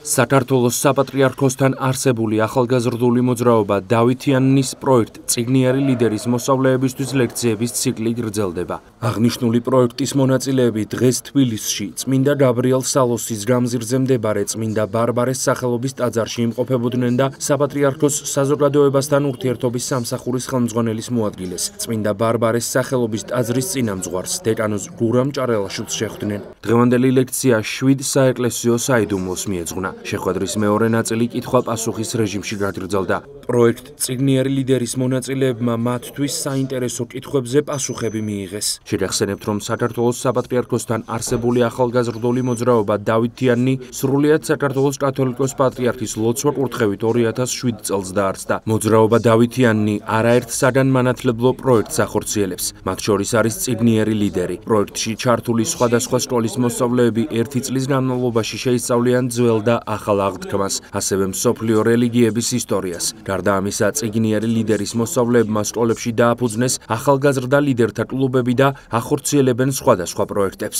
საქართველოს საპატრიარქოსთან არსებული ახალგაზრდული მოძრაობა დავითიანის პროექტ წიგნიერი ლიდერის მოსწავლეებისთვის ლექციების ციკლი გრძელდება. აღნიშნული პროექტის მონაწილეები დღეს თბილისში წმინდა გაბრიელ სალოსის გამზირზე მდებარე წმინდა ბარბარეს სახელობის ტაძარში იმყოფებოდნენ და საპატრიარქოს საზოგადოებასთან ურთიერთობის სამსახურის ხელმძღვანელის მოადგილეს წმინდა ბარბარეს სახელობის ტაძრის წინამძღვარს დეკანოზ გურამ ჭარელაშვილს შეხვდნენ. დღევანდელი ლექცია 7 საეკლესიო საიდუმლოს მიეძღვნა. შეხვედრის მეორე ნაწილი კითხვა-პასუხის რეჟიმში გაგრძელდა. პროექტ წიგნიერი ლიდერის მონაწილეებმა მათთვის საინტერესო კითხვებზე პასუხები მიიღეს. შეგახსენებთ, რომ საქართველოს საპატრიარქოსთან არსებული ახალგაზრდული მოძრაობა დავითიანი სრულიად საქართველოს კათოლიკოს პატრიარქის ლოცვა კურთხევით 2007 წელს დაარსდა. მოძრაობა დავითიანი არაერთ საგანმანათლებლო პროექტს ახორციელებს. მათ შორის არის წიგნიერი ლიდერი. პროექტში ჩართული სხვადასხვა სკოლის მოსწავლეები 1 წლის განმავლობაში შეისწავლიან ძველ და ახალ აღთქმას, ასევე მსოფლიო რელიგიების ისტორიას. გარდა ამისა, წიგნიერი ლიდერის მოსწავლეებმა სკოლებში დააფუძნეს ახალგაზრდა ლიდერთა კლუბები და ახორციელებენ სხვადასხვა პროექტებს.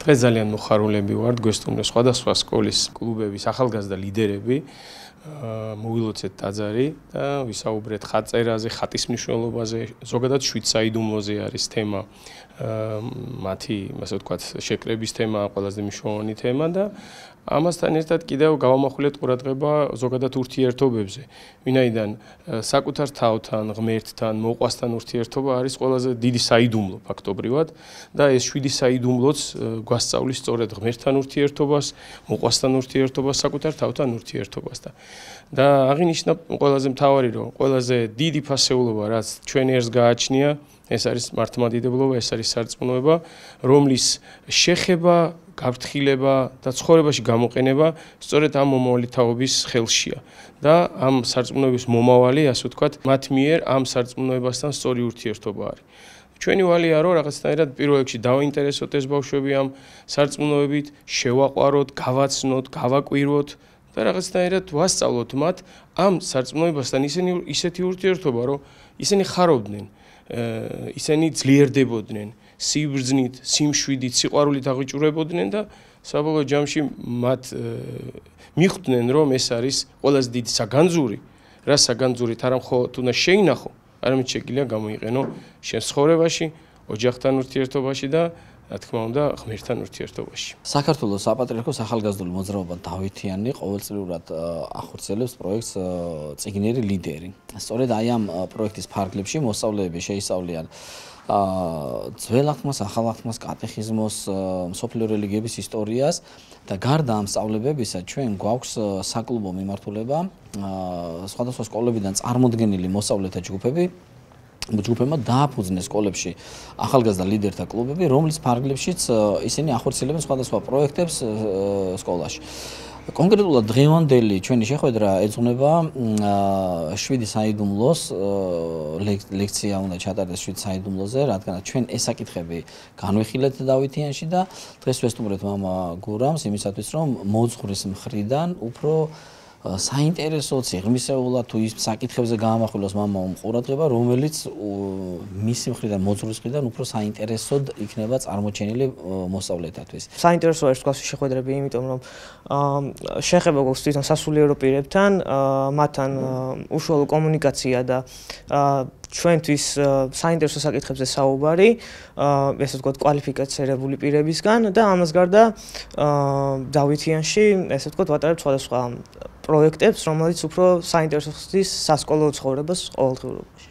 დღეს ძალიან მოხარულები ვართ, გვესტუმრეს სხვადასხვა სკოლის კლუბების ახალგაზრდა ლიდერები. მოვილოცეთ ტაძარი და ვისაუბრეთ ხატწერაზე, ხატის მნიშვნელობაზე, ზოგადად 7 საიდუმლოზე არის თემა, მათი, ასე ვთქვათ, შეკრების თემა, ყველაზე მნიშვნელოვანი თემა და ამასთან ერთად კიდევ გავამახვილეთ ყურადღება ზოგადად ურთიერთობებზე. ვინაიდან საკუთარ თავთან, ღმერთთან, მოყვასთან ურთიერთობა არის ყველაზე დიდი საიდუმლო ფაქტობრივად და ეს 7 საიდუმლოც გვასწავლის სწორედ ღმერთთან ურთიერთობას, მოყვასთან ურთიერთობას, საკუთარ თავთან ურთიერთობას და აღინიშნა ყველაზე მთავარი, რომ ყველაზე დიდი ფასეულობა, რაც ჩვენ ერთს გააჩნია, ეს არის მართლმადიდებლობა, ეს არის სარწმუნოება, რომლის შეხება, გაფრთხილება და ცხოვრებაში გამოყენება სწორედ ამ მომავალი თაობის ხელშია და ამ სარწმუნოების მომავალი, ასე ვთქვათ, მათ მიერ ამ სარწმუნოებასთან სწორი ურთიერთობა არის. ჩვენი ვალია რომ რაღაცნაირად პირველ რიგში დავაინტერესოთ ეს ბავშვები ამ სარწმუნოებით, შევაყვაროთ, გავაცნოთ, გავაკვირვოთ და რაღაცნაირად ვასწავლოთ მათ ამ სარწმუნოებასთან ისეთი ურთიერთობა, რომ ისინი ხარობდნენ, ისინი ძლიერდებოდნენ, სიბრძნით, სიმშვიდით, სიყვარულით აღვიჭურებოდნენ და საბოლოო ჯამში მათ მიხვდნენ, რომ ეს არის ყველაზე დიდი საგანძური, რა საგანძურით არა მხოლოდ უნდა შეინახო, არამედ შეგვიძლია გამოიყენო შენ ცხოვრებაში, ოჯახთან ურთიერთობაში და რა თქმა უნდა, ღმერთთან ურთიერთობაში. საქართველოს საპატრიარქოს ახალგაზრდული მოძრაობა დავითიანი ყოველწლიურად ახორციელებს პროექტს წიგნიერი ლიდერი. სწორედ აი ამ პროექტის ფარგლებში მოსწავლეები შეისწავლიან ძველ აღთქმას, ახალ აღთქმას, კატეხიზმოს, მსოფლიო რელიგიების ისტორიას და გარდა ამ სწავლებებისა ჩვენ გვაქვს საკლუბო მიმართულება სხვადასხვა სკოლებიდან წარმოდგენილი მოსწავლეთა ჯგუფებმა დააფუძნეს სკოლებში ახალგაზრდა ლიდერთა კლუბები, რომლის ფარგლებშიც ისინი ახორციელებენ სხვადასხვა პროექტებს სკოლაში. კონკრეტულად დღევანდელი ჩვენი შეხვედრა ეძღვნება 7 საიდუმლოს ლექცია უნდა ჩატარდეს 7 საიდუმლოზე, რადგან ჩვენ ეს საკითხები განვიხილეთ დავითიანში და დღეს ვესტუმრეთ მამა გურამს იმისათვის, რომ მოძღვრის მხრიდან უფრო საინტერესო სიღრმისეულად თუ ის საკითხებზე გაამახვილოს მამამ ყურადღება, რომელიც მისი მხრიდან, მოძღვრის მხრიდან უფრო საინტერესოდ იქნება წარმოჩენილი მოსწავლეთათვის. საინტერესო არის თქვა შეხვედრები, იმიტომ რომ შეხება გვაქვს თვითონ სასულიერო პირებთან, მათთან უშუალო კომუნიკაცია და ჩვენთვის საინტერესო საკითხებზე საუბარი, ესე ვთქვათ, კვალიფიცირებული პირებისგან და ამას გარდა დავითიანში, ესე ვთქვათ, ვატარებთ სხვადასხვა პროექტებს, რომელიც უფრო საინტერესო ხდის სასკოლო ცხოვრებას ყოველდღიურობაში.